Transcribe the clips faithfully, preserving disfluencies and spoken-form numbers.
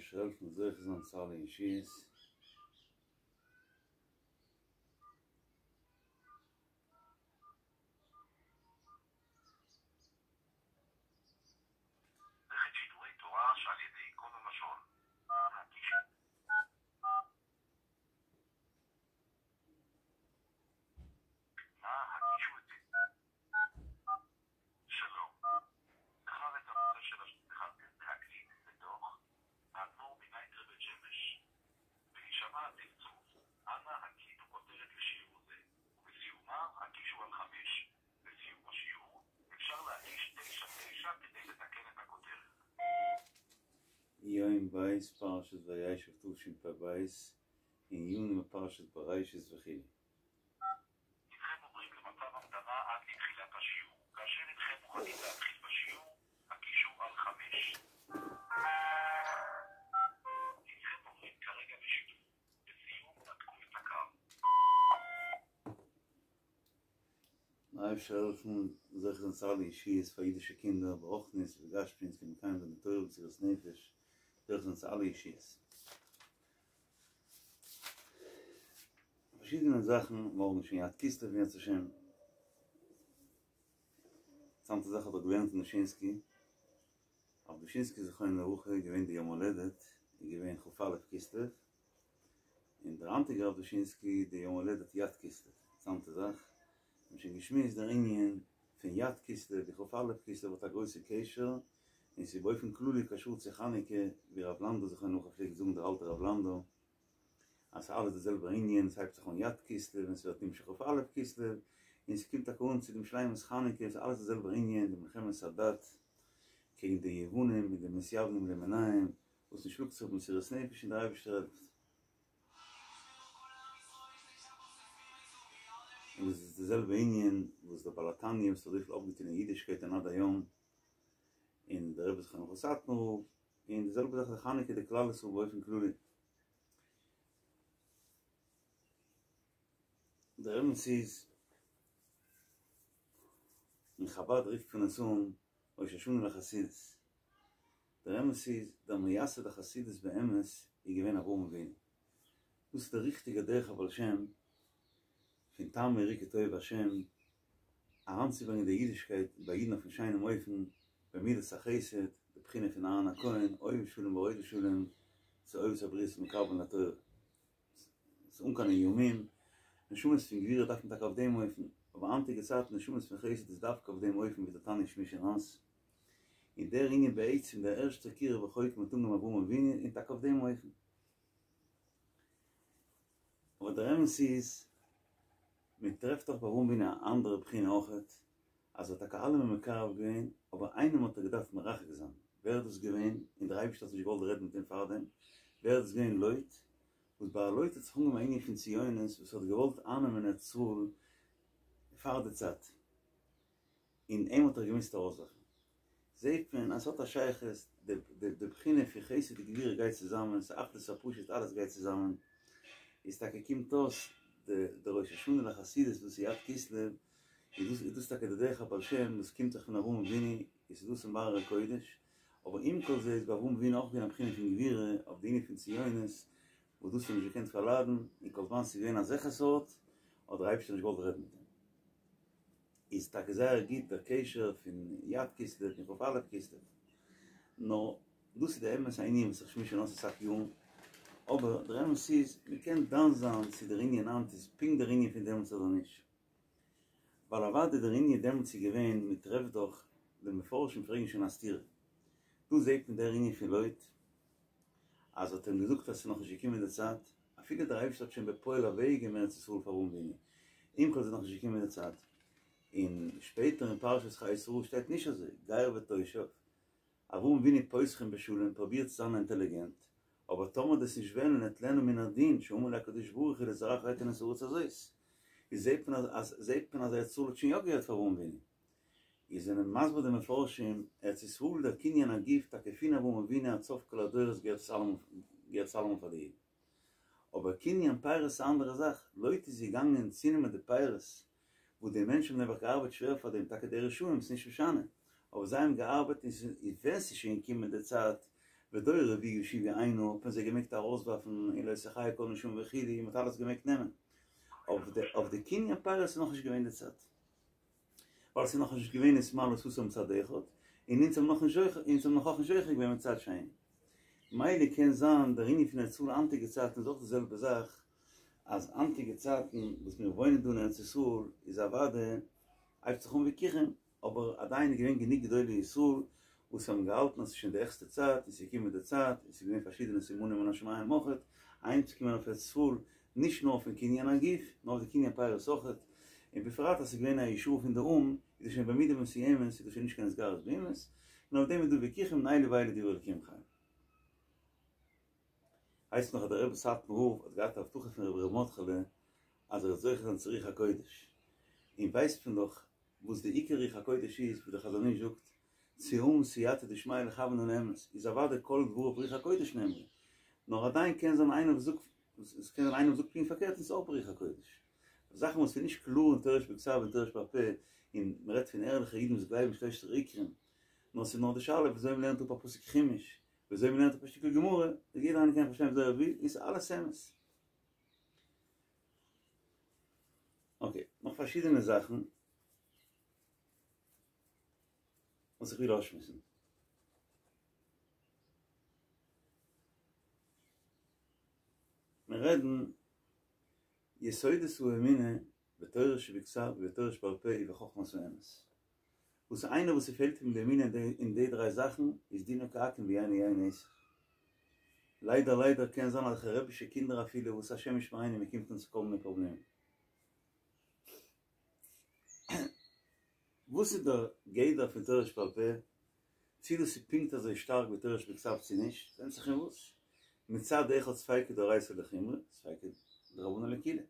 אייבערשטער העלפן זוכה זיין צו אלע ישועות. מערכת שידורי תורה שעל ידי קול הלשון. הקישו נא הקישו את שלום. בחר את הנושא של להקליט בתוך האדמו"ר מנייטרא בית שמש. בהישמע הצלצול, אנא הקליטו כותרת לשיעור זה, ובסיומה הקישו על חמש. בסיום השיעור אפשר להקיש תשע תשע כדי לתקן את הכותרת. יום בית פרשת וישב תשפ"ב אין יוני פרשת בראשית וכו'. הנכם עוברים למצב המתנה עד לתחילת השיעור. כאשר הנכם מוכנים להתחיל בשיעור, הקישו על חמש. הנכם עוברים כרגע לשידור. לסיום, נתקו את הקו. דער אייבערשטער העלפן זוכה זיין צו אלע ישועות פאר אידישע קינדער ברוחניות ובגשמיות מקיים זיין די תורה במסירות נפש זוכה זיין צו אלע ישועות. פארשידענע זאכן, מארגן איז שוין י"ד כסלו אם ירצה השם. אינטערעסאנטע זאך האב איך געלערנט אין דושינסקי, רב דושינסקי זכרונו לברכה איז געווען די יום הולדת איז געווען כ"א כסלו, און דער היינטיגער רב דושינסקי די יום הולדת י"ד כסלו, אינטערעסאנטע זאך, מיר האבן שוין געשמועסט דער ענין פון י"ד כסלו און כ"א כסלו האט א גרויסע קשר, און ס'איז באופן כללי קשור צו חנוכה, ווי רב לאנדא זכרונו לברכה פלעגט זאגן דער אלטער רב לאנדא, אז ס'איז אלעס די זעלבע ענין, ס'הייבט זיך אן י"ד כסלו און ס'ווערט נמשך כ"א כסלו, און ס'קומט טאקע אן צו דעם שלימות חנוכה, ס'איז אלעס די זעלבע ענין, די מלחמת הדת קעגן די יוונים מיט די מתיוונים למיניהם, וואס מ'שלאגט זיך במסירות נפש און דער אייבערשטער העלפט. און דאס איז די זעלבע ענין וואס דער בעל התניא וואס האט אזויפיל אויפגעטון אין אידישקייט און עד היום, און דער רבי זכרונו לברכה סאטמאר רב, און די זעלבע זאך די חנוכה די כלל ישראל באופן כללי. דער אמת איז, אין חבד רופט מען עס אן ראש השנה לחסידות. דער אמת איז, דער מייסד החסידות באמת איז געווען אברהם אבינו. דאס איז דער ריכטיגער דרך הבעל שם, פון טעמו וראו כי טוב השם, אריינצוברענגען די אידישקייט ביי אידן אויפן שיינעם אופן, במידת החסד, די בחינה פון אהרן הכהן, אוהב שלום ורודף שלום, צו אוהב את הבריות ומקרבן לתורה. ס'איז אן קיין איומים, נשמות פון גבורה דארף מען טאקע אויף דעם אופן, אבער היינטיגע צייטן נשמות פון חסד איז דווקא אויף דעם אופן ווי דער תניא שמש און אז. און דער ענין בעצם דער ערשטער קירוב רחוקים האט אנגעהויבן אברהם אבינו און טאקע אויף דעם אופן. אבער דער אמת איז, מען טרעפט דאך ביי אברהם אבינו א אנדערע בחינה אויכעט, אז ער האט טאקע אלעמען מקרב געווען, אבער איינעם האט ער געדארפט מרחק זיין, ווער איז דאס געווען, און דער אייבערשטער האט נישט געוואלט רעדן מיט אים פארדעם, ווער איז דאס געווען לוט, וואס ביי לוט האט זיך אנגעהויבן א ענין פון ציונות וואס האט געוואלט אייננעמען ארץ ישראל פאר די צייט. און אים האט ער געמוזט ארויסווארפן. זעהט מען אז ס'האט א שייכות, די די בחינה פון חסד און גבורה גייט צוזאמען, ס'איז אחדות הפשוט אלעס גייט צוזאמען, איז טאקע קומט אויס די די ראש השנה לחסידות וואס איז י"ד כסלו, איז דאס איז דאס טאקע די דרך הבעל שם וואס קומט זיך פון אברהם אבינו, איז דאס אין באר הקודש, אבער עם כל זה איז ביי אברהם אבינו אויך געווען א בחינה פון גבורה אויף די ענין פון ציונות, וואס דאס האט ער נישט געקענט פארליידן, און כל זמן ס'איז געווען אזעלכע סארט, האט דער אייבערשטער נישט געוואלט רעדן מיט אים. איז טאקע זייער גוט דער קשר פון י"ד כסלו און כ"א כסלו, נאר דאס איז די אמת א ענין וואס איך שמועס שוין אויס אסאך יארן, אבער דער אמת איז מען קען דן זיין צו דער ענין היינט איז פונקט דער ענין פון דעמאלטס אדער נישט, ווייל אוודאי דער ענין דעמאלטס איז געווען, מען טרעפט דאך, די מפרשים פרעגן שוין א סתירה, דא זעט מען דער ענין פון לוט, אז ער האט אים געזאגט אז ס'איז נאכנישט געקומען די צייט, אפילו דער אייבערשטער האט שוין בפועל אוועקגעגעבן ארץ ישראל פאר אברהם אבינו, עם כל זה איז נאכנישט געקומען די צייט, און שפעטער אין פרשת חיי שרה שטייט נישט אזוי, גר ותושב, אברהם אבינו פותחין בשלום פרובירט צו זיין אינטעליגענט, אבער טאמער דו'סט נישט וועלן אטלנה מן הדין שאמר לי הקדוש ברוך הוא לזרעך אתן את הארץ הזאת, איז זעט מען אז זעט מען אז ארץ ישראל האט שוין יא געהערט פאר אברהם אבינו. איז זענען מסביר די מפרשים, ארץ ישראל דער קנין הגוף טאקע פון אברהם אבינו עד סוף כל הדורות געהערט עס אלעמאל געהערט עס אלעמאל פאר די אידן. אבער קנין פירות איז א אנדערע זאך, לוט איז געגאנגען צונעמען די פירות וואס די מענטשן האבן נעבעך געארבעט שווער פאר דעם, טאקע די רשעים ס'נישט משנה, אבער זיי האבן געארבעט און ס'איז ווען ס'איז שוין געקומען די צייט ודור רביעי ושבעי היינו, האט מען זיי געמעגט ארויסווארפן און לא תחיה כל נשמה וכו', מען האט אלעס געמעגט נעמען. אויף די אויף די קנין פירות איז נאכנישט געווען די צייט. ווייל עס איז נאכנישט געווען נתמלאה סאתם מצד אחד, און אונז האבן נאכנישט זוכה, אונז האבן נאך אויך נישט זוכה געווען מצד שני. מילא קען זיין דער ענין פון ארץ ישראל היינטיגע צייטן איז אויך די זעלבע זאך, אז היינטיגע צייטן וואס מיר וואוינען דא אין ארץ ישראל איז אוודאי הייבט זיך אן וויכוחים, אבער עדיין איז געווען גענוג גדולי ישראל וואס האבן געהאלטן אז ס'איז שוין די העכסטע צייט און ס'איז געקומען די צייט און ס'איז געווען פארשידענע סימנים מן השמים אויכעט אהיימצוקומען אויף ארץ ישראל נישט נאר אויפן קנין הגוף נאר אויף די קנין פירות אויכעט און בפרט אז ס'איז געווען א ישועה פון די או"ם איז דאס שוין במידה מסוימת איז דאס שוין נישט קיין התגרות באומות און אויף דעם איז דא וויכוחים און אלו ואלו דברי אלקים חיים. הייסט נאך אז דער רבי סאטמאר רב האט געהאט א הבטחה פון רבי ר' מרדכי'לע אז ער וועט זוכה זיין צו רוח הקודש און ווייסט מען דאך וואס די עיקר רוח הקודש איז, ווי דער חזון איש זאגט, צו האבן סייעתא דשמיא לכוון אן אמת, איז אוודאי כל דבריו ברוח הקודש נאמרו, נאר עדיין קען זיין איינער וואס זאגט, עס קען זיין איינער וואס זאגט פונקט פארקערט און ס'איז אויך ברוח הקודש. זאכן וואס איז נישט קלאר אין תורה שבכתב און תורה שבעל פה, און מען רעדט פון ערליכע אידן וואס גלייבן שלושת עיקרים, נאר ס'איז נאר די שאלה וויאזוי מען לערנט אפ א פסוק חומש, וויאזוי מען לערנט אפ א שטיקל גמרא, יעדער איינער קען פארשטיין וויאזוי ער וויל, און ס'איז אלעס אמת. אקעי, נאך פארשידענע זאכן וואס איך וויל אויסשמועסן. מיר רעדן יסודות האמונה בתורה שבכתב ובתורה שבעל פה ובחכמת האמת. וואס איינער וואס ס'פעלט אים די אמונה אין די דריי זאכן איז דינו כעכו"ם ואינו יין נסך. ליידער ליידער קען זיין אזעלכע רבי'שע קינדער אפילו וואס השם ישמרינו מען קומט אן צו כל מיני פראבלעמען. וואס איז דער גדר פון תורה שבעל פה? צי דאס איז פונקט אזוי שטארק ווי תורה שבכתב צי נישט, ווענדט זיך אין וואס. מצד אחד ספיקא דאורייתא לחומרא, ספיקא דרבנן לקולא.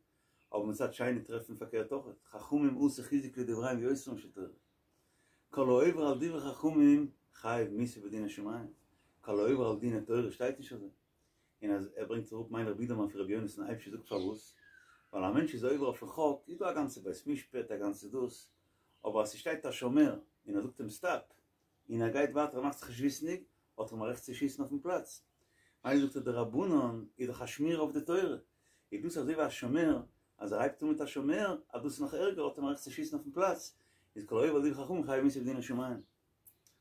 אבער מצד שני טרעפט מען פארקערט אויך, חכמים עשו חיזוק לדבריהם ביותרן של תורה. כל העובר על דברי חכמים חייב מיתה בדיני שמים, כל העובר על דיני תורה שטייט נישט אזוי. און אז ער ברענגט אראפ מיין רבי בידערמאן פון רבי יונתן אייבשיץ זאגט פארוואס, ווייל א מענטש איז עובר אויפן חוק איז דא א גאנצע בית משפט א גאנצע דאס, אבער אז ס'שטייט א שומר און ער זאגט אים סטאפ, און ער גייט ווייטער ער מאכט זיך נישט וויסנדיג, האט ער אים א רעכט צו שיסן אויפן פלאץ. מילא זאגט ער די רבנן איז דאך א שמירה אויף די תורה, איז דאס אזוי ווי א שומר, אז ער הייבט אן מיט א שומר, אז דאס איז נאך ערגער האט ער אים א רעכט צו שיסן אויפן פלאץ, איז כל העובר על דברי חכמים חייב מיתה בדיני שמים.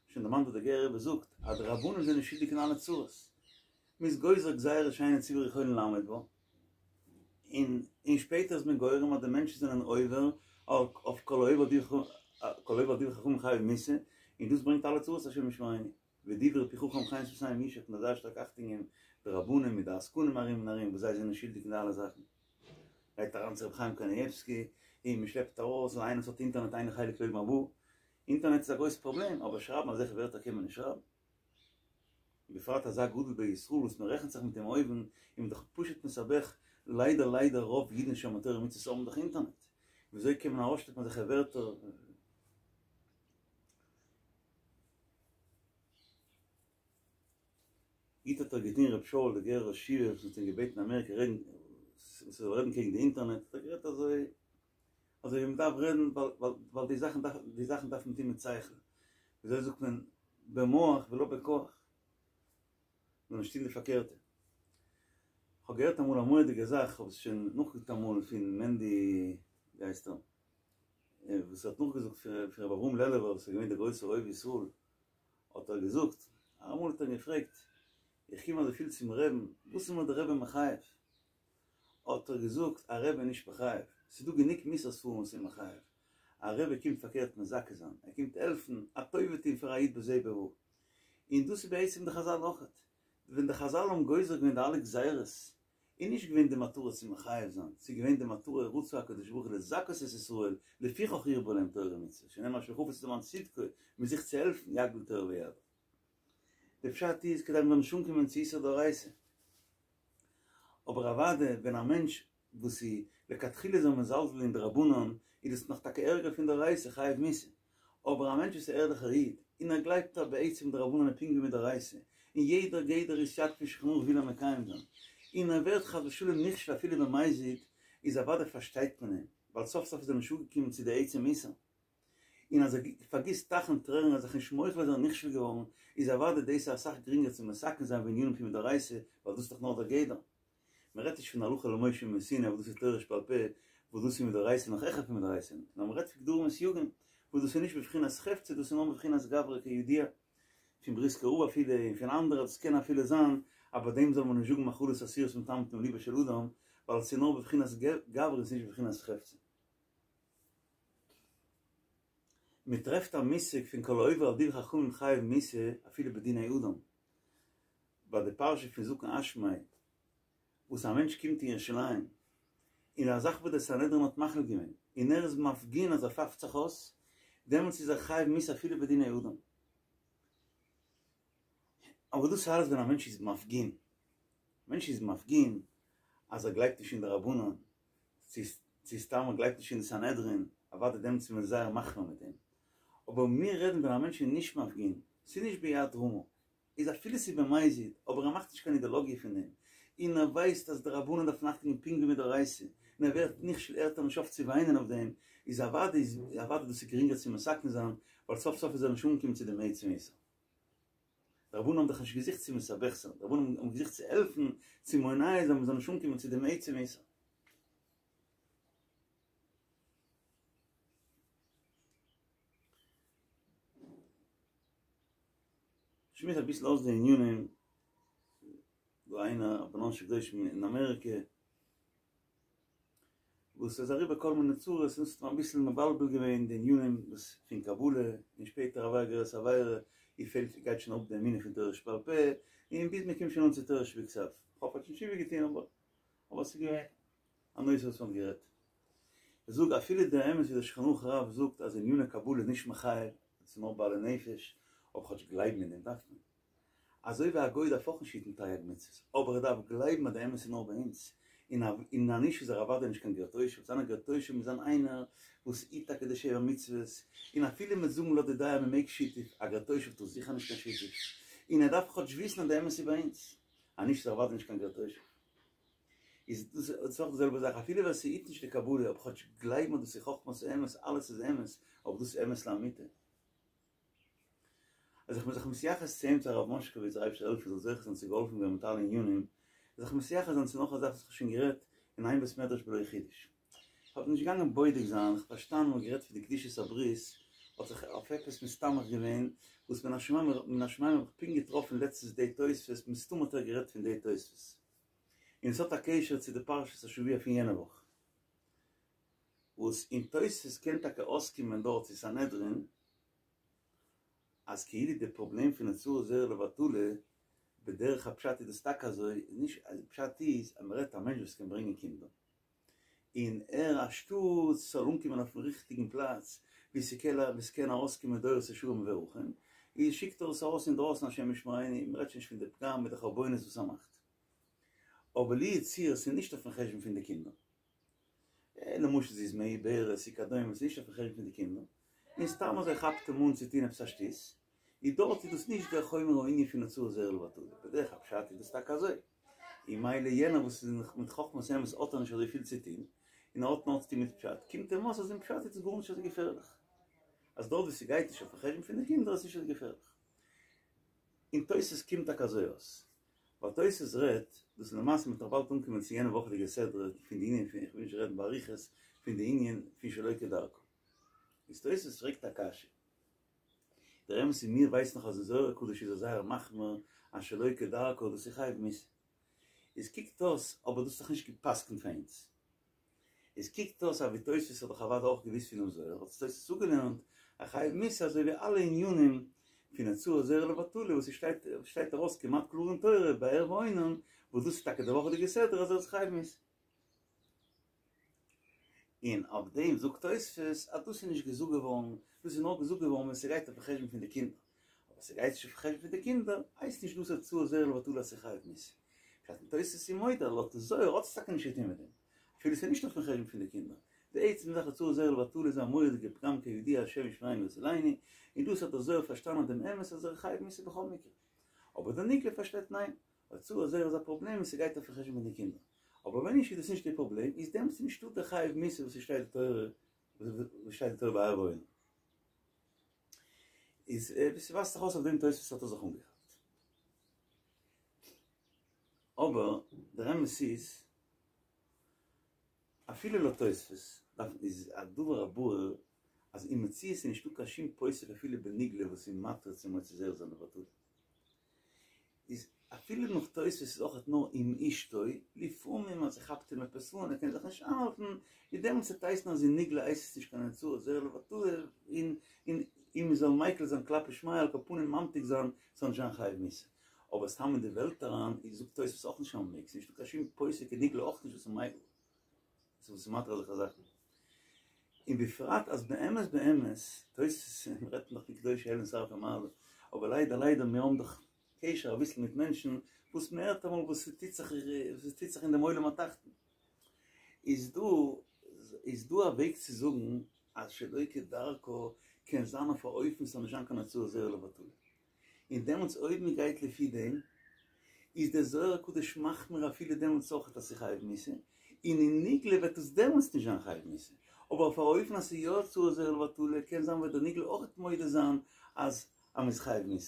שוין דערמאנט וואס דער גערער רבי זאגט, אז די רבנן זענען שולדיג אין אלע צרות. מ'איז גוזר גזירות שאין הציבור יכולין לעמוד בה, און און שפעטער איז מען גורם אז די מענטשן זענען עובר אויף כל העובר על דברי חכמים חייב מיתה, און דאס ברענגט אלע צרות השם ישמרינו. ודברי פי חכם חן שפתים ישק, מ'דארף זייער שטארק אכטונג געבן די רבנים מיט די עסקנים ארום און ארום וואס זיי זענען שולדיג אין די אלע זאכן. גייט אריין צו רבי חיים קנייבסקי און מ'שלעפט ארויס און איינער וואס האט אינטערנעט אין לו חלק לעולם הבא. אינטערנעט איז א גרויס פראבלעם אבער שרייבן אזעלכע ווערטער קען מען נישט שרייבן. בפרט אזא גדול בישראל וואס מ'רעכנט זיך מיט אים אויבן איז מען דאך פשוט מסבך, ליידער ליידער רוב אידן שומרי תורה ומצוות האבן דאך אינטערנעט, וויאזוי קען מען ארויסשלעפן אזעלכע ווערטער? גוט האט ער געטון ר' שאול דער גערער ראש ישיבה וואס מ'האט אים געבעטן אין אמעריקע רעדן וואס ער זאל רעדן קעגן די אינטערנעט האט ער גערעדט אזוי אזוי ווי מ'דארף רעדן ווייל ווייל די זאכן דארף די זאכן דארף מען טון מיט שכל וויאזוי זאגט מען במוח ולא בכח זאל נישט טון די פארקערטע כ'האב געהערט אמאל א מורא'דיגע זאך כ'האב עס שוין נאכגעזאגט אמאל פון מענדי ווי הייסט ער וואס האט נאכגעזאגט פון רבי אברהם לעלובער וואס איז געווען דער גרויסער אוהב ישראל האט ער געזאגט, אמאל האט ער אים געפרעגט, איך קום אזויפיל צום רעבן, וואס איז מיר דער רבי מחייב? האט ער געזאגט, א רבי איז נישט מחייב, ס'איז דא גענוג מוסר ספרים וואס איז מחייב, א רבי קומט פארקערט מזכה זיין, ער קומט העלפן, א טובה טון פאר א איד בזה ובבא, און דאס איז בעצם די חזל אויכעט, ווען די חזל האבן גוזר געווען די אלע גזירות, איז נישט געווען די מטרה צו מחייב זיין, ס'איז געווען די מטרה רצה הקדוש ברוך הוא לזכות את ישראל, לפיכך הרבה להם תורה ומצוות, שנאמר אשר חפץ למען צדקו, מען זוכט צו העלפן, יגדיל תורה ויאדיר. די פשט איז כדי מ'זאל נישט אנקומען צו איסור דאורייתא. אבער אוודאי ווען א מענטש וואס איז לכתחילה איז ער מזלזל אין דרבנן, איז דאס נאך טאקע ערגער פון דאורייתא, חייב מיתה. אבער א מענטש וואס איז א ערליכער איד, און ער גלייבט אז בעצם דרבנן איז פונקט ווי מדאורייתא, און יעדער גדר וסייג פון שולחן ערוך וויל ער מקיים זיין, און ער ווערט חס ושלום נכשל אפילו במזיד, איז אוודאי פארשטייט מען אים, ווייל סוף סוף איז ער נישט אנגעקומען צו די עצם איסור. און אז ער פארגיסט טייכן טרערן אז זיך נישט מוחל אז ער איז נכשל געווארן, איז אוודאי דאס אסאך גרינגער צו מתקן זיין ווי ענינים פון מדאורייתא, ווייל דאס איז דאך נאר דער גדר. מען רעדט נישט פון הלכה למשה מסיני וואס דאס איז תורה שבעל פה, וואס דאס איז מדאורייתא נאך העכער פון מדאורייתא, נאר מען רעדט פון גדרים וסייגים, וואס דאס איז נישט בבחינת חפצא, דאס איז נאר בבחינת גברא כידוע, פון בריסקער רב אפילו, און פון אנדערע, דאס קען אפילו זיין אז ביי דעם זאל מען נישט זאגן מאכלות אסורות מטמטום ליבו של אדם, ווייל עס איז נאר בבחינת גברא און עס איז נישט בבחינת חפצא. מען טרעפט א מושג פון כל העובר על דברי חכמים חייב מיתה אפילו בדיני אדם, ביי די פרשה פון זקן אשמאי, וואס א מענטש קומט אין ירושלים, און א זאך וואס דער סנהדרין האט מחליט געווען, און ער איז מפגין אז ער פאפט זיך אויס, דעמאלטס איז ער חייב מיתה אפילו בדיני אדם. אבער דאס איז אלעס ווען א מענטש איז מפגין. א מענטש איז מפגין אז ער גלייבט נישט אין די רבנן, צו סתם ער גלייבט נישט אין די סנהדרין, אוודאי דעמאלטס איז מען זייער מחמיר מיט אים. אבער מיר רעדן ווען א מענטש איז נישט מפגין, ס'איז נישט ביד רמה, איז אפילו ס'איז במזיד, אבער ער מאכט נישט קיין אידעלאגיע פון דעם, און ער ווייסט אז די רבנן דארפן אכטונג געבן פונקט ווי מדאורייתא, און ער ווערט נכשל הערט ער נישט אויף צו וויינען אויף דעם, איז אוודאי איז אוודאי דאס איז גרינגער צו מתקן זיין, ווייל סוף סוף איז ער נישט אנגעקומען צו דעם עצם איסור. די רבנן האבן דאך נישט געזוכט צו מסבך זיין, די רבנן האבן געזוכט צו העלפן, צו מונע זיין מ'זאל נישט אנקומען צו דעם עצם איסור. שמועס אביסל אויס די ענינים, דא איינער א בנן של קדושים אין אמעריקע, וואס איז אריבער כל מיני צרות און ס'האט אים אביסל מבלבל געווען די ענינים וואס פון קבלה, און שפעטער עבר גזירת עבירה, איר פעלט גייט שוין אראפ די אמונה פון תורה שבעל פה, און ביז מ'קומט שוין אן צו תורה שבכתב. כ'האף ער האט שוין תשובה געטון אבער אבער ס'איז געווען א נושא וואס מ'האט גערעדט. איך זאג אפילו דער אמת ווי דער שולחן ערוך הרב זאגט אז עניני קבלה איז נישט מחייב, עס איז נאר בעלי נפש, אבער כאטש גלייבן אין דעם דארף מען. אזוי ווי א גוי דארף אויך נישט היטן תרי"ג מצוות, אבער ער דארף גלייבן אז די אמת איז נאר ביי אונז, און אז נישט איז ער אוודאי נישט קיין גר תושב, זיין א גר תושב מוז זיין איינער וואס היט טאקע די שבע מצוות, און אפילו מ'וועט זאגן לויט די דעה מ'מעג שיתוף, א גר תושב טאר זיכער נישט קיין שיתוף, און ער דארף כאטש וויסן אז די אמת איז ביי אונז, אז נישט איז ער אוודאי נישט קיין גר תושב. איז דאס איז אויך די זעלבע זאך, אפילו ווער ס'היט נישט די קבלה, אבער כאטש גלייבן אז דאס איז חכמת האמת, אלעס איז אמת, אבער דאס איז אמת לאמיתה. אז איך בין זיך מתייחס צו אים צו הרב מאשקאוויץ דער אייבערשטער העלפן זאל זוכה זיין צו געהאלפן ווערן מיט אלע ענינים, זיך מתייחס זיין צו נאך א זאך וואס איך האב שוין גערעדט אין איין בית מדרש בלא חידוש. איך האב נישט געגאנגען בודק זיין, איך האב פארשטאנען מ'האט גערעדט פון די קדושת הברית, האט זיך אויף עפעס מסתמך געווען, וואס מן השמים מן השמים האב איך פונקט געטראפן לעצטנס די תוספות, מסתמא האט ער גערעדט פון די תוספות. און עס האט א קשר צו די פרשת השבוע פון יענע וואך. וואס אין תוספות קען טאקע אויסקומען דארט צו סנהדרין, אז כאילו די פראבלעם פון הוצאת זרע לבטלה, בדרך הפשט איז דאס טאקע אזוי, נישט פשט איז אז מ'רעדט א מענטש וואס קען ברענגען קינדער, און ער אנשטאט ס'זאל אנקומען אויפן ריכטיגן פלאץ ווי ס'קען ס'קען ארויסקומען דורות ישרים מבורכים, איז שיקט ער עס ארויס אינדרויסן השם ישמרינו, מ'רעדט שוין נישט פון די פגם מיט די חרבונות וואס ער מאכט. אבער לו יצוייר ס'איז נישט אויפן חשבון פון די קינדער. למשל זי איז מעוברת וכדומה, ס'איז נישט אויפן חשבון פון די קינדער, און סתם אזוי כאפט אים אן צו טון עפעס א שטות, איז דארט איז דאס נישט דער חומר הענין פון הוצאת זרע לבטלה, בדרך הפשט איז דאס טאקע אזוי, און מילא יענער וואס איז מיט חכמת האמת האט ער נישט אזוי פיל צו טון, און ער האט נאר צו טון מיט פשט, קומט אים אויס אז אין פשט איז דאס גארנישט אזוי געפערליך, אז דארט וואו ס'גייט נישט אויפן חשבון פון די קינדער איז נישט אזוי געפערליך. אין תוס' קומט טאקע אזוי אויס. ווייל תוס' רעדט, דאס איז למעשה מ'וועט נאך באלד אנקומען צו יענע וואכעדיגע סדרה פון די ענין פון, איך וויל נישט רעדן באריכות, פון די ענין פון שלא כדרכה. איז תוס' פרעגט א קשיא. דער אמת איז מיר ווייסן נאך אז אין זוהר הקדוש איז ער זייער מחמיר אז שלא כדרכה דאס איז חייב מיתה. איז קוקט אויס, אבער דאס איז דאך נישט גע'פסק'נט פאר אונז. עס קוקט אויס אז ווי תוספות האט דאך אוודאי אויך געוואוסט פונעם זוהר, האט עס תוספות צוגעלערנט א חייב מיתה אזוי ווי אלע ענינים פון הוצאת זרע לבטלה וואס עס שטייט שטייט ארויס כמעט קלאר אין תורה ביי ער ואונן, וואס דאס איז טאקע די וואכעדיגע סדרה אז ער איז חייב מיתה. און אויף דעם זאגט תוספות אז דאס איז נישט געזאגט געווארן, דאס איז נאר געזאגט געווארן ווען ס'גייט אויפן חשבון פון די קינדער, אבער ס'גייט נישט אויפן חשבון פון די קינדער הייסט נישט דאס הוצאת זרע לבטלה אז ס'איז חייב מיתה. פשט אין תוספות איז מודה לויט די זוהר האט עס טאקע נישט צו טון מיט דעם, אפילו ס'איז נישט אויפן חשבון פון די קינדער. די עצם זאך הוצאת זרע לבטלה איז א מורא'דיגע פגם כידוע השם ישמרינו ויצילנו, און דאס האט דער זוהר פארשטאנען דעם אמת אז ער איז חייב מיתה בכל מקרה. אבער דער נגלה פארשטייט ניין, הוצאת זרע איז א פראבלעם און ס'גייט אויפן חשבון פון די קינדער. אבער ווען נישט איז דאס נישט די פראבלעם, איז דעמאלטס נישטא דער חייב מיתה וואס ס'שטייט די תורה וואס שטייט די תורה ביי ער ואונן. איז ווי ס'ווייזט זיך אויס אויף דעם תוספות האט ער זיך אנגעכאפט. אבער דער אמת איז, אפילו לויט תוספות דארף איז א דבר הברור אז אין מציאות איז נישטא קיין שום פוסק אפילו בנגלה וואס איז מתיר צו מוציא זרע זיין לבטלה. איז אפילו נאך תוספות איז אויכעט נאר עם אשתו, לפעמים אז ס'כאפט אים עפעס אן ער קען זיך נישט איינהאלטן, איז דעמאלטס וועט הייסן אז אין נגלה הייסט עס נישט קיין הוצאת זרע לבטלה, און און און מ'זאל מיקל זיין כלפי שמיא על כל פנים ממתיק זיין ס'זאל נישט זיין חייב מיתה. אבער סתם אין די וועלט אריין איז זאגט תוספות אויך נישט אז מ'מעג, ס'איז נישטא קיין שום פוסק אין נגלה אויך נישט וואס איז מיקל, וואס איז מתיר אזעלכע זאכן. און בפרט אז באמת באמת, תוספות רעדט נאך פון קדושי עליון שרפי מעלה, אבער ליידער ליידער מיר האבן דאך קשר אביסל מיט מענטשן וואס מען הערט אמאל וואס ס'טוט זיך וואס ס'טוט זיך אין דעם עולם התחתון, איז דא איז דא א וועג צו זאגן אז שלא כדרכו קען זיין אויף א אופן ס'זאל נישט זיין קיין הוצאת זרע לבטלה, און דעמאלטס אויב מען גייט לפי דעם איז דער זוהר הקדוש מחמיר אפילו דעמאלטס אויכעט אז ס'איז חייב מיתה, און אין נגלה וועט עס דעמאלטס נישט זיין חייב מיתה, אבער אויף א אופן אז ס'איז יא הוצאת זרע לבטלה קען זיין וועט דער נגלה אויכעט מודה זיין אז אז מ'איז חייב מיתה.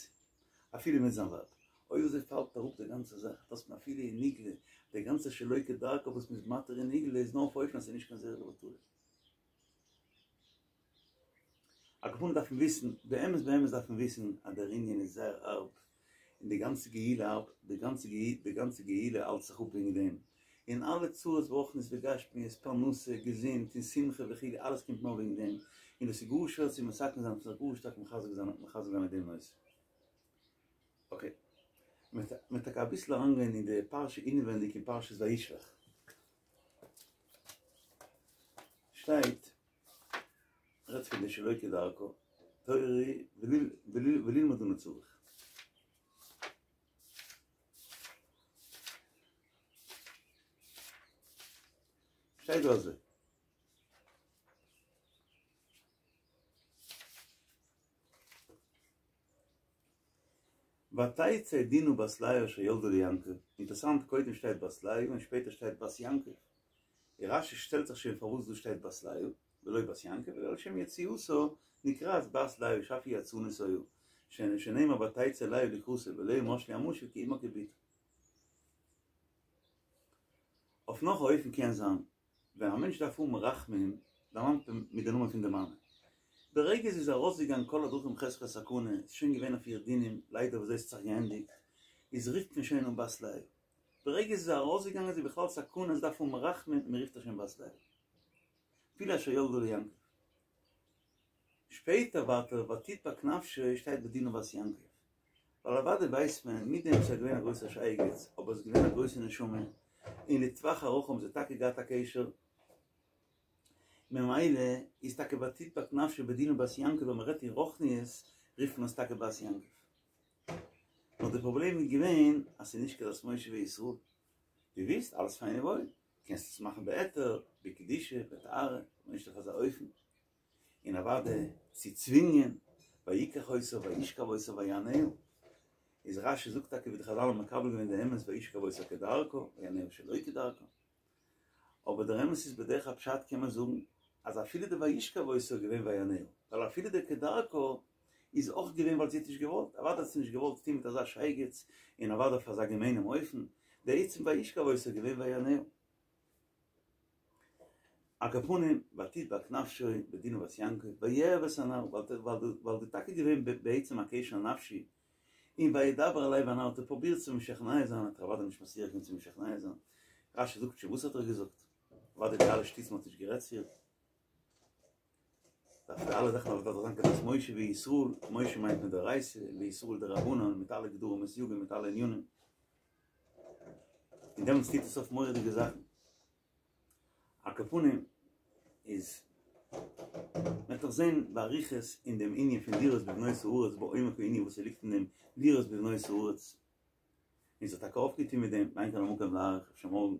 אפילו מיט זיין ווייב. אויב אזוי פאלט אראפ די גאנצע זאך, דאס מען אפילו אין נגלה, די גאנצע שלא כדרכו וואס מ'איז מתיר אין נגלה איז נאר אויף אופן אז ס'איז נישט קיין זרע לבטלה. על כל פנים דארף מען וויסן, באמת באמת דארף מען וויסן אז דער ענין איז זייער הארב, און די גאנצע גאולה הארב, די גאנצע די גאנצע גאולה האלט זיך אפ וועגן דעם, און אלע צרות ברוחניות וגשמיות, פרנסה, געזונט, און שמחה וכו', אלעס קומט נאר וועגן דעם, און דאס איז גאר שווער צו מתקן זיין, מ'דארף זיך גאר שטארק מחזק זיין מחזק זיין מיט דעם נושא. אקעי, מ'וועט טאקע אביסל אריינגיין אין די פרשה אינעווענדיג אין פרשת וישלח. שטייט, רעדט פון די שלא כדרכו, תורה וללמוד אנו צריך. שטייט דא אזוי. ותצא דינה בת לאה אשר ילדה ליעקב, אינטערסאנט קודם שטייט בת לאה און שפעטער שטייט בת יעקב, און רשי שטעלט זיך שוין פארוואס דא שטייט בת לאה ולא בת יעקב, אלא על שם יציאתה נקראת בת לאה שאף היא יצאנית היו, שנאמר ותצא לאה לקראתו ולאה משלו המשל כי אמה כבתה. אויף נאך א אופן קען זיין, ווען א מענטש דארף האבן רחמים, דערמאנט מען מיט די נאמען פון די מאמע. ברגע זי איז ארויסגעגאנגען כל הדרכים חזקת סכנה, איז שוין געווען אויף איר דינים, ליידער וויאזוי עס האט זיך געענדיגט, איז רופט מען שוין אן בת לאה. ברגע זי איז ארויסגעגאנגען איז זי בכלל סכנה, זי דארף האבן רחמים, מען רופט איר שוין בת לאה. אפילו אשר ילדה ליעקב. שפעטער ווייטער ותדבק נפשו שטייט בדינה בת יעקב. ווייל אוודאי ווייסט מען, מיט דעם וואס ער איז געווען א גרויסער שייגעץ, אבער עס איז געווען א גרויסע נשמה, און לטווח ארוך האבן זיי טאקע געהאט א קשר, ממילא איז טאקע ותדבק נפשו בדינה בת יעקב ווען מען רעדט אין רוחניות רופט מען עס טאקע בת יעקב. נאר די פראבלעם איז געווען אז ס'איז נישט כדת משה וישראל. דו ווילסט אלעס פיין און וואויל, קענסט עס מאכן בהיתר, בקדושה, בטהרה, אבער נישט אויף אזא אופן. און אוודאי צו צווינגען, ויקח אותה וישכב אותה ויענה. איז רשי זאגט טאקע ווי די חזל האבן מקבל געווען די אמת וישכב אותה כדרכה, ויענה שלא כדרכה. אבער דער אמת איז בדרך הפשט קען מען זאגן אז אפילו די וישכב אותה איז געווען ויענה, ווייל אפילו די כדרכה איז אויך געווען ווייל זי האט נישט געוואלט, אוודאי האט זי נישט געוואלט טון מיט אזא שייגעץ און אוודאי אויף אזא געמיינעם אופן, די עצם וישכב אותה איז געווען ויענה. על כל פנים, ותדבק נפשו בדינה בת יעקב, ויאהב את הנער, ווייל די טאקע געווען בעצם א קשר נפשי, און וידבר אל לב הנער האט ער פרובירט צו משכנע זיין, האט ער אוודאי נישט מצליח געווען צו משכנע זיין, רשי זאגט שוין וואס האט ער געזאגט, אוודאי די אלע שטותים האט נישט גערעדט צו איר, דארף די אלע זאכן דארף דאך זיין כדת משה וישראל, משה מיינט מדאורייתא, וישראל דרבנן, מיט אלע גדרים וסייגים מיט אלע ענינים, און דעמאלטס טוט עס אויף מורא'דיגע זאכן. על כל פנים איז מ'וועט דאך זען באריכות אין דעם ענין פון לראות בבנות הארץ בעומק הענין וואס ס'ליגט אין דעם לראות בבנות הארץ, און ס'האט טאקע אויפגעטון מיט דעם, ואין כאן המקום להאריך אפשר מארגן.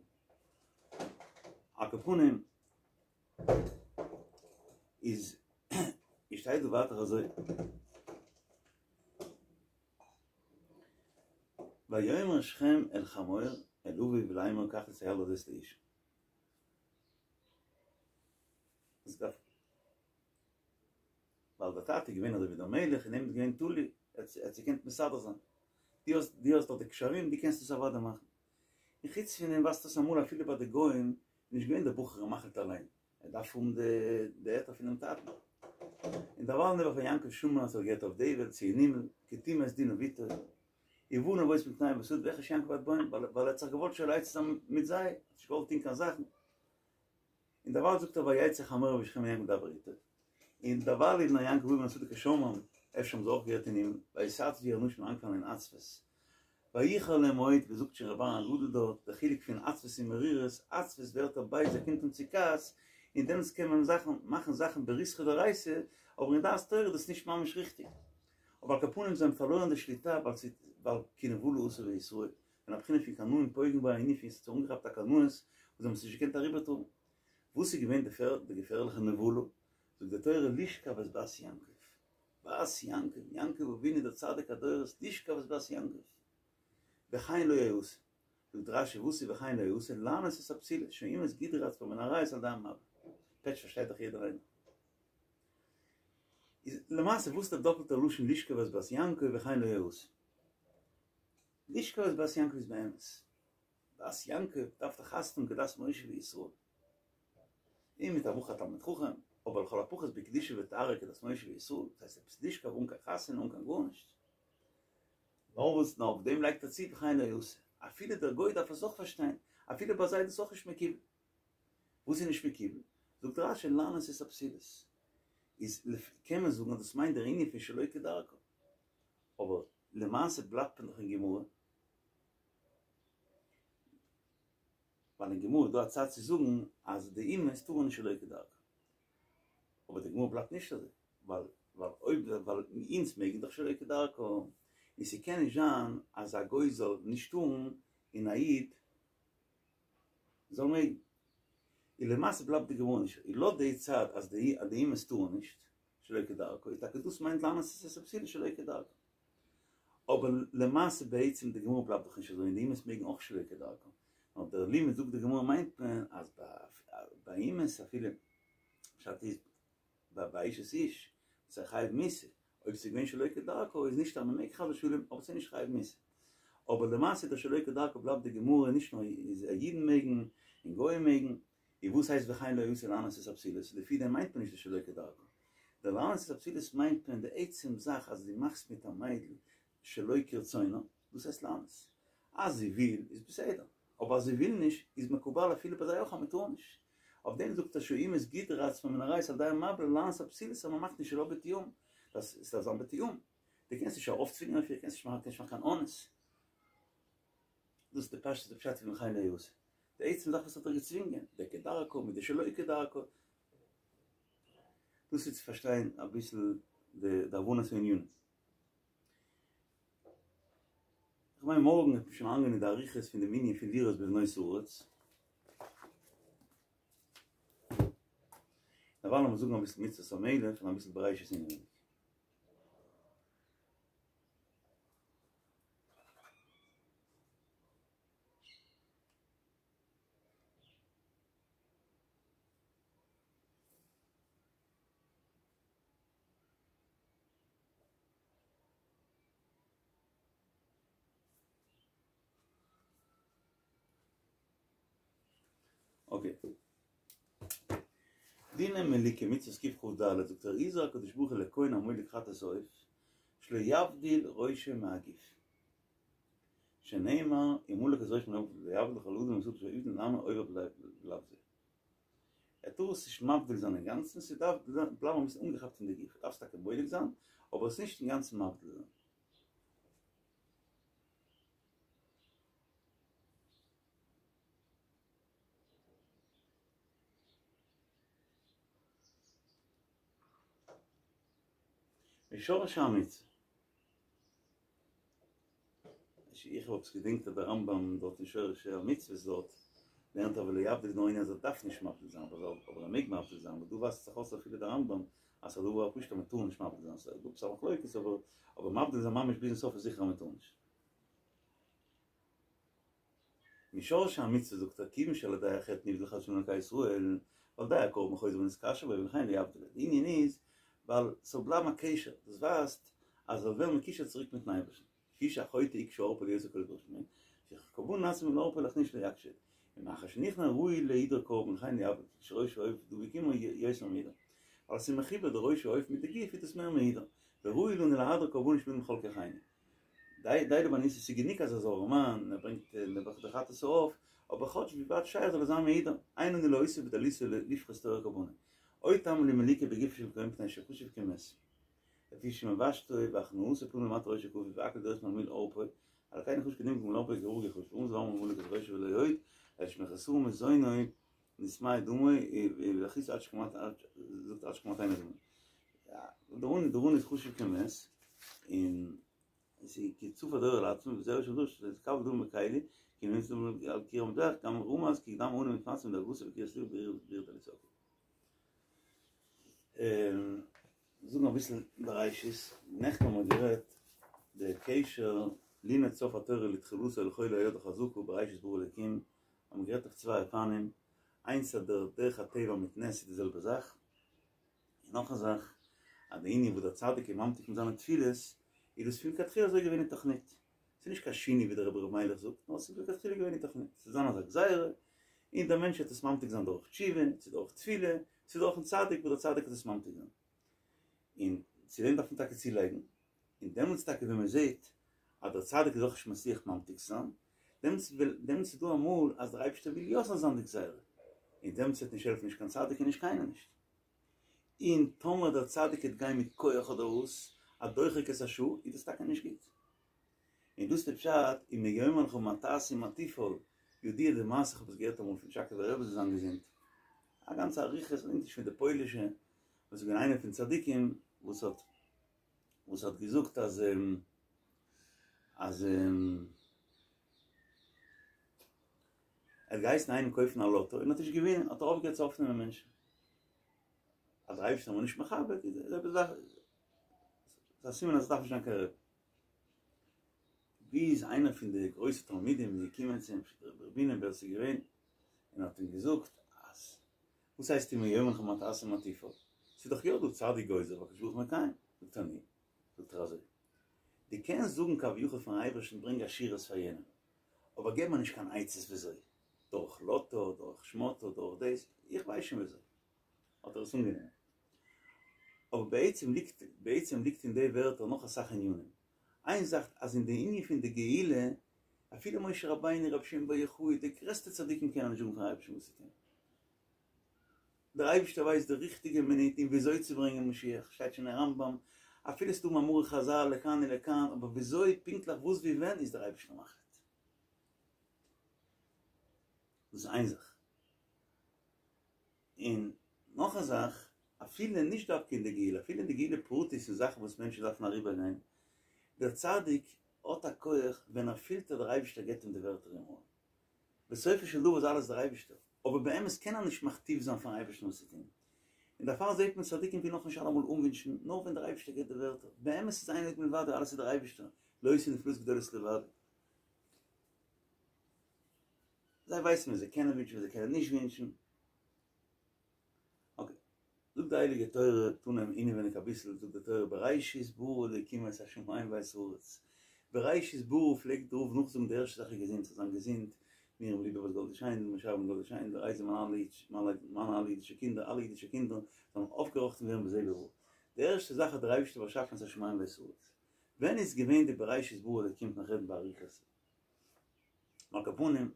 על כל פנים איז שטייט דא ווייטער אזוי. ויאמר שכם אל חמור אל אביו לאמר קח את הילדה הזאת לאשה. עס דארף ווייל דער טאטע איז געווען אזוי ווי דער מלך, אין אים איז געווען תלוי, ער האט זיך געקענט מסדר זיין. דו האסט, דו האסט דאך די קשרים, דו קענסט עס אוודאי מאכן. און חוץ פון דעם ווייזט אויס אמאל אפילו ביי די גוים איז נישט געווען דער בחור א מחליט אליין, ער דארף האבן די די היתר פונעם טאטן. און דערווייל נעבעך ווען יעקב שמע אז ער געהערט אויף די וועלט צו אין הימל, כי טמא את דינה בתו, ובא נבות מקנה בשדה ויחרש יעקב עד בואם, ווייל ער האט זיך געוואלט שואל עצה זיין מיט זיי, ער האט נישט געוואלט טון קיין זאכן. און דערווייל זאגט ער ויצא חמור ושכם אל יעקב דבר איתו. און דערווייל איז בני יעקב באים מן השדה כשמעם, אפשר האבן זיי אויך געהערט אין הימל, ויתעצבו האנשים אנגעפאנגען אין עצבות. ויחר להם מאוד, ווי זאגט שוין ר' אהרן הגדול דארט, דער חילוק פון עצבות און מרירות, עצבות ווערט ער בייז ער קומט אן צו כעס, און דעמאלטס קען מען זאכן מאכן זאכן בריתחא דאורייתא, אבער אין דעת תורה איז דאס נישט ממש ריכטיג. אבער על כל פנים זיי האבן פארלוירן די שליטה ווייל ס'איז ווייל כי נבלה עשו בישראל, פון א בחינה פון קנאים פוגעים בו א ענין פון ס'האט זיך אנגעכאפט א קנאות וואס זיי האבן עס נישט געקענט אריבערטראגן. וואס איז געווען די געפערליכע נבלה? זאגט די תורה לשכב את בת יעקב, בת יעקב, יעקב אבינו דער צדיק הדורות, לשכב את בת יעקב, וכן לא יעשה, זאגט רשי וואס איז וכן לא יעשה, לענות את הבתולות, שהאימהות גידרו עצמן מן העריות על ידי המבול, פעטש פארשטייט דאך יעדער איינער. איז למעשה וואס איז דער דאפלטער לשון לשכב את בת יעקב וכן לא יעשה? לשכב את בת יעקב איז באמת בת יעקב דארף דאך חתונה האבן כדת משה וישראל. און מיט א בחור תלמיד חכם, אבער לכל הפחות בקדושה וטהרה כדת משה וישראל, דאס הייסט עפעס לשכב אן קיין חתונה אן קיין גארנישט. נאר וואס נאר אויף דעם לייגט ער צו וכן לא יעשה. אפילו דער גוי דארף עס אויך פארשטיין, אפילו ביי זיי איז דאס אויך נישט מקובל. וואס איז נישט מקובל? זאגט רשי לענות את הבתולות. איז קען מען זאגן אז דאס מיינט דער ענין פון שלא כדרכה. אבער למעשה בלייבט מען דאך אין גמרא. ווייל אין גמרא איז דא א צד צו זאגן אז די אמהות טארן נישט שלא כדרכה. אבער די גמרא בלייבט נישט אזוי, ווייל ווייל אויב ווייל אונז מעגן דאך שלא כדרכה, און ס'קען נישט זיין אז א גוי זאל נישט טארן און א איד זאל מעגן. און למעשה בלייבט די גמרא נישט, און לויט די צד אז די אז די אמהות טארן נישט שלא כדרכה, איז טאקע דאס מיינט לענות את הבתולות שלא כדרכה. אבער למעשה בעצם די גמרא בלייבט דאך נישט אזוי און די אמהות מעגן אויך שלא כדרכה. נאר דער לימוד זאגט די גמרא מיינט מען אז ביי אמהות אפילו פשט איז ביי אשת איש וואס איז חייב מיתה, אויב ס'איז געווען שלא כדרכה איז נישט אז מ'מעג חס ושלום אבער ס'איז נישט חייב מיתה. אבער למעשה דער שלא כדרכה בלייבט די גמרא נישט נאר איז אידן מעגן און גוים מעגן, און וואס הייסט וכן לא יעשה לענות את הבתולות? לפי דעם מיינט מען נישט די שלא כדרכה. די לענות את הבתולות מיינט מען די עצם זאך אז דו מאכסט מיט א מיידל שלא כרצונה, דאס הייסט לענות. אז זי וויל איז בסדר, אבער אז זי וויל נישט איז מקובל אפילו ביי זיי אויך אז מען טאר נישט. אויף דעם זאגט ער שהאימהות גדרו עצמן מן העריות על ידי המבול לענות הבתולות אז מען מאכט נישט שלא בתיאום, דאס עס דארף זיין בתיאום. דו קענסט נישט ארויפצווינגען אויף איר, קענסט נישט מאכן קיין אונס. דאס איז די פשט די פשט פון וכן לא יעשה. די עצם זאך וואס האט ער געצווינגען, די כדרכה מיט די שלא כדרכה. דאס איז צו פארשטיין אביסל די די הבנת הענינים. איך מיין מארגן וועט מען שוין אריינגיין אין די אריכות פון דעם ענין פון לראות בבנות הארץ. דערווייל לאמיר זאגן אביסל מצוות המלך און אביסל בראשית אינעווייניג. אקעי. דיני מליקה מצוות קכ"ד זאגט ער הזהיר הקדוש ברוך הוא לכהן המולק חטאת העוף שלא יבדיל ראשו מהגוף שנאמר ומלק את ראשו מן העוף לא יבדיל כל אדם מישראל אשר יבדיל לעמו עובר בלאו זה. ער טאר עס נישט מבדיל זיין אינגאנצן, ס'דארף בלייבן אביסל אנגעכאפט אין די גוף, דארפסט טאקע מולק זיין, אבער עס נישט אינגאנצן מבדיל זיין. משורש המצוה. איך האב עפעס געדענקט אז דער רמב"ם דארט אין שורש המצוות דארט לערנט ער ולא יבדיל איז נאר ענין אז ער דארף נישט מבדיל זיין אבער ער מעג מבדיל זיין אבער דא ווייזט זיך אויס אפילו דער רמב"ם אז ס'איז א דבר הפשוט אז מ'טאר נישט מבדיל זיין ס'איז דא עפעס א מחלוקת אבער אבער מבדיל זיין ממש ביזן סוף איז זיכער אז מ'טאר נישט. משורש המצוה זאגט ער כיוון שעל ידי החטא נבדל חס ושלום מאלקי ישראל ועל ידי הקרבן חוזר ונתקשר בו ולכן לא יבדיל די ענין איז ווייל ס'זאל בלייבן א קשר, דאס ווייזט אז ער זאל ווערן מקושר צוריק מיטן אייבערשטן, לפי שהחוטא יקשור עורפו להיות הכל קדוש ממנו, שכקרבן נעשה מלא עורפו לכן שלא יקשה, ומאחר שנכנע ראוי להידור קרבן וכן יעבוד, שראש העוף דבוק עמו יותר מהידור. ווייל עס איז מחובר די ראש העוף מיט די גוף איז דאס מער מהידור, וראוי לנו להדיר קרבנות שמין בכל כוחנו. די די לבניס איז גענוג אז ער זאל ארעמאן, ער ברענגט נעבעך די חטאת העוף, אבער כאטש ווי ווייט שייך זאל ער זיין מהידור, אין לנו להוסיף בדליתו לפחות תואר קרבנו. עוד טעם למליקה בגופו של כהן מפני שחשוב כמת. לפי שמבשתו והכנעתו פנים למטה ראשו כפוף והכל דורש ממלא עורפו, על כן נחוש קדים גמול עורפו כהרוג יחוש, ואום זוהר ממולק את ראשו ולא יועד, אלא שמחסור מזוינו נשמע דומו ולהכניס עד שקמת זאת עד שקמת עין הדומו. דרון דרון איז חושב כמת, אין זי כצוף הדור לעצמו וזהו שדוש זה קו דום מקיילי כי נמצא על קיר המזבח גם רומז כי דם אונו מתמצא מדרגוסה וקיר סליב בעיר בעיר דליצוק. זאגן אביסל בראשית, נעכטן האבן מיר גערעדט דער קשר לימד סוף התורה לתחילתו לכל היד החזקה בראשית ברא אלקים, האבן מיר גערעדט אויף צוויי אופנים, איינס אז דער דרך הטבע מיט נס איז די זעלבע זאך, און נאך א זאך אז די ענין וואס דער צדיק איז ממתיק מיט זיינע תפילות איז דאס פון לכתחילה אזוי געווען אין תכנית, ס'איז נישט קיין שינוי ווי דער רבי ר' מיילעך זאגט, נאר ס'איז לכתחילה געווען אין תכנית, ס'איז זיין אזא גזירה, און דער מענטש וועט עס ממתיק זיין דורך תשובה, צו דורך תפילה, צו דורכ'ן צדיק וואס דער צדיק וועט עס ממתיק זיין. און צו דעם דארף מען טאקע צולייגן, און דעמאלטס טאקע ווען מען זעט אז דער צדיק איז אויך נישט מצליח ממתיק זיין, דעמאלטס דעמאלטס איז דא אמאל אז דער אייבערשטער וויל יא ס'זאל זיין די גזירה, און דעמאלטס וועט נישט העלפן נישט קיין צדיק און נישט קיינער נישט. און טאמער דער צדיק וועט גיין מיט כח אדער וואס, א דוחק את השעה, איז דאס טאקע נישט גוט. און דאס איז די פשט, אם יאמר לך מה תעשה ומה תפעל, ידוע די מעשה, כ'האב עס געהערט אמאל פון טשאקאווער רבי זאל זיין געזונט, א גאנצע אריכות, נישט פון די פוילישע, וואס איז געווען איינער פון צדיקים וואס האט וואס האט געזאגט אז אז ער האט געהייסן איינעם קויפן א לאטא און האט נישט געווינען האט ער אויפגעהערט צו אויפנעמען מענטשן אז דער אייבערשטער איז נישט מכבד איז עפעס זאך איז א סימן אז עס דארף נישט זיין קיין רבי ביז איינער פון די גרויסע תלמידים איז געקומען צו אים רבי בונם ווער עס איז געווען און האט אים געזאגט אז וואס הייסט אם יאמר לך מה תעשה ומה תפעל? ס'איז דאך יא דא צדיק גוזר והקדוש ברוך הוא מקיים. זאגט ער נו, זאגט ער אזוי, דו קענסט זאגן כביכול פארן אייבערשטן ברענג עשירות פאר יענעם, אבער געב מיר נישט קיין עצות וויאזוי, דורך לאטא, דורך שמאטא, דורך דאס, איך ווייס שוין וויאזוי. האט ער עס אנגענומען. אבער בעצם ליגט, בעצם ליגט אין די ווערטער נאך אסאך ענינים. איין זאך אז אין די ענין פון די גאולה, אפילו משה רבינו, רבי שמעון בר יוחאי, די גרעסטע צדיקים קענען נישט זאגן פארן אייבערשטן וואס צו טון. דער אייבערשטער ווייסט די ריכטיגע מינוט און וויאזוי צו ברענגען משיח, שטייט שוין אין רמב"ם, אפילו ס'דא מאמרי חז"ל לכאן ולכאן, אבער וויאזוי פונקטליך וואס ווי ווען איז דער אייבערשטער מחליט. דאס איז איין זאך. און נאך א זאך, אפילו נישט דווקא אין די גאולה, אפילו אין די גאולה פרטית אין זאכן וואס מענטשן דארפן אריבערגיין, דער צדיק האט א כח ווען ער פילט אז דער אייבערשטער געבט אים די ווערטער אין מויל. בסופו של דבר איז אלעס דער אייבערשטער, אבער באמת קען ער נישט מכתיב זיין פארן אייבערשטן וואס צו טון, און דערפאר זעט מען צדיקים ווילן אויך נישט אלעמאל אנווינטשן, נאר ווען דער אייבערשטער געבט די ווערטער, באמת איז אין עוד מלבדו, אלעס איז דער אייבערשטער, לא עושה נפלאות גדולות לבדו. זיי ווייסן ווען זיי קענען ווינטשן ווען זיי קענען נישט ווינטשן. אקעי, זאגט די הייליגע תורה, תנא אינעווייניג אביסל, זאגט די תורה בראשית ברא אלוקים את השמים ואת הארץ, בראשית ברא פלעגט דער רב נאכזאגן די ערשטע זאך איז געזונט, זאל זיין געזונט, מרים ליבע בת גאלדע שיינדל, משה אהרן בן גאלדע שיינדל, רייזע מיינע אלע אידישע קינדער, אלע אידישע קינדער זאלן אויפגעראכטן ווערן בזה וברא. די ערשטע זאך האט דער אייבערשטער באשאפן את השמים ואת הארץ. ווען איז געווען די בראשית ברא אלוקים נאך רעדן באריכות. על כל פנים,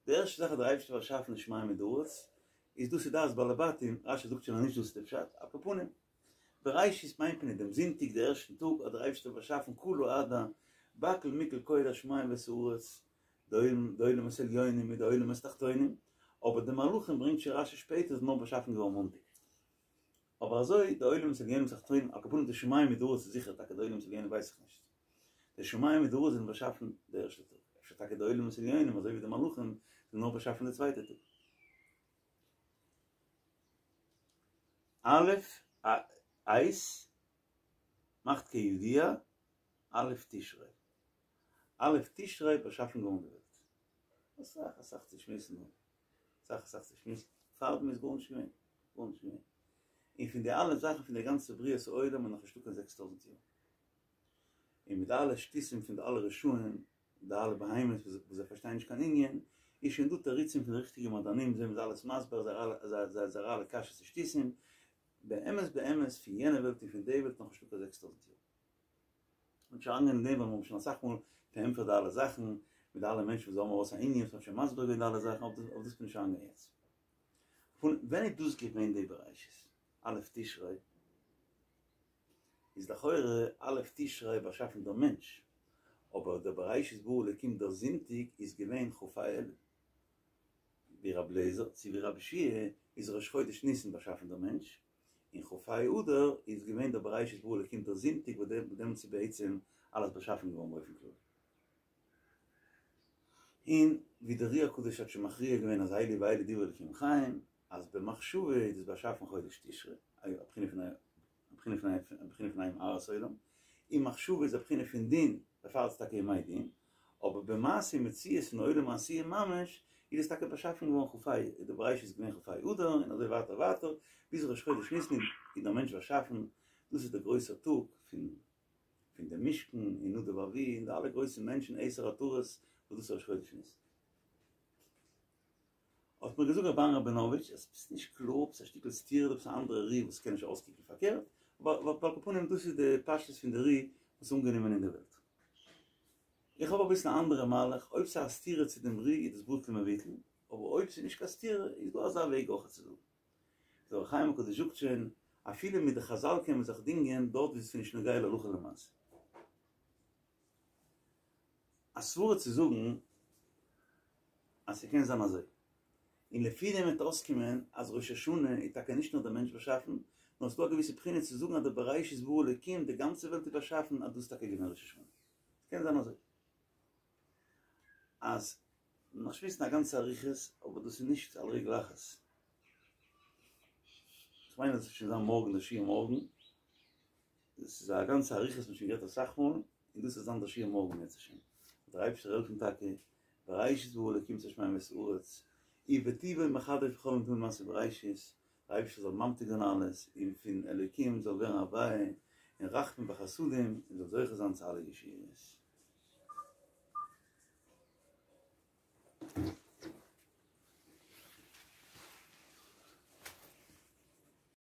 די ערשטע זאך האט דער אייבערשטער באשאפן די שמים מיט די ארץ, איז דאס איז דעת בעלי בתים, רש"י זאגט שוין אז נישט דאס איז די פשט, על כל פנים, בראשית מיינט מען אין דעם זונטאג די ערשטן טאג האט דער אייבערשטער באשאפן כולא הדא בכל מכל כל השמים ואת הארץ, די עולמות עליונים מיט די עולמות תחתונים, אבער די מלאכים ברענגט שוין רש"י שפעטער איז נאר באשאפן געווארן מאנטאג. אבער אזוי די עולמות עליונים ותחתונים, על כל פנים די שמים מיט די ארץ איז זיכער טאקע די עולמות עליונים ווייס איך נישט. די שמים מיט די ארץ זענען באשאפן די ערשטע טאג, אפשר טאקע די עולמות עליונים אזוי ווי די מלאכים זענען נאר באשאפן די צווייטע טאג. א' עת מאכט כידוע א' תשרי, א' תשרי באשאפן געווארן די וועלט. אסאך אסאך צו שמועסן דא, אסאך אסאך צו שמועסן, פארדעם איז גארנישט געווען, גארנישט געווען. און פון די אלע זאכן פון די גאנצע בריאת העולם איז נאכנישטא קיין זעקס טויזנט יאר. און מיט די אלע שטותים פון די אלע רשעים, די אלע בהמות וואס זיי פארשטייען נישט קיין ענין, איז שוין דא תירוצים פון די ריכטיגע מדענים, זיי האבן זיי אלעס מסביר, זייערע אלע קשיות און שטותים, באמת באמת פון יענע וועלט און פון די וועלט נאכנישטא קיין זעקס טויזנט יאר. און נישט אריינגיין אין דעם ווייל מיר האבן שוין אסאך מאל פארענטפערט די אלע זאכן, מיט די אלע מענטשן וואס זיי האבן ארויס א ענין וואס מ'האט שוין מסביר געווען די אלע זאכן, אויף דאס בין איך נישט אריינגיין יעצט. פון ווען איז דאס געווען די בראשית? א' תשרי איז לכאורה א' תשרי באשאפן דער מענטש, אבער דער בראשית ברא אלקים דער זונטאג איז געווען כ"ה אלול. ווי רבי אליעזר צו ווי רבי יהושע איז ראש חודש ניסן באשאפן דער מענטש, און כ"ה אדר איז געווען דער בראשית ברא אלקים דער זונטאג וואס דעמאלטס איז בעצם אלעס באשאפן געווארן באופן כללי. און ווי דער אר"י הקדוש האט שוין מכריע געווען אז אלו ואלו דברי אלקים חיים, אז במחשבה איז דאס באשאפן חודש תשרי, א בחינה פון א בחינה פון א בחינה פון א הארת עולם, און מחשבה איז א בחינה פון דין, דערפאר איז עס טאקע ימי דין, אבער במעשה מציאות פון עולם העשיה ממש, איז עס טאקע באשאפן געווארן כ"ה, איז די בראשית איז געווען כ"ה אדר, און אזוי ווייטער ווייטער, ביז ראש חודש ניסן איז דער מענטש באשאפן, דאס איז דער גרויסער טאג פון פון דעם משכן, און נדב ואביהוא, און די אלע גרויסע מענטשן עשר עטרות, וואס דאס איז ראש חודש ניסן. האט מיר געזאגט רבי אהרן ראבינאוויטש אז ס'איז נישט קלאר, ס'איז א שטיקל סתירה, דא עפעס א אנדערע ר"י וואס קען נישט אויסקוקן פארקערט, אבער על כל פנים דאס איז די פשטות פון די ר"י וואס איז אנגענומען אין די וועלט. איך האב אביסל א אנדערע מהלך, אויב ס'איז א סתירה צו דעם ר"י איז דאס בטל ומבוטל, אבער אויב ס'איז נישט קיין סתירה איז דא אזא וועג אויך צו זאגן. דער אור החיים הקדוש זאגט שוין, אפילו מיט די חזל קען מען זיך דינגען דארט וואו ס'איז נישט נוגע להלכה למעשה. א סברה צו זאגן אז ס'קען זיין אזוי. און לפי דעם וועט אויסקומען אז ראש השנה איז טאקע נישט נאר דער מענטש באשאפן, נאר ס'דא א געוויסע בחינה צו זאגן אז דער בראשית ברא אלקים, די גאנצע וועלט איז באשאפן, אז דאס איז טאקע געווען ראש השנה. ס'קען זיין אזוי. אז נאך שמועסן א גאנצע אריכות, אבער דאס איז נישט על רגל אחת. כ'מיין אז עס וועט שוין זיין מארגן דער שיעור מארגן. דאס איז א גאנצע אריכות, מ'האט שוין גערעדט אסאך מאל, און דאס וועט זיין דער שיעור מארגן אם ירצה השם. דער אייבערשטער העלפן טאקע, בראשית ברא אלקים את השמים ואת הארץ, ובטובו מחדש בכל יום תמיד מעשה בראשית, דער אייבערשטער זאל ממתיק זיין אלעס, און פון אלוקים זאל ווערן הוויה, און רחמים וחסדים, און זאל זוכה זיין צו אלע ישועות.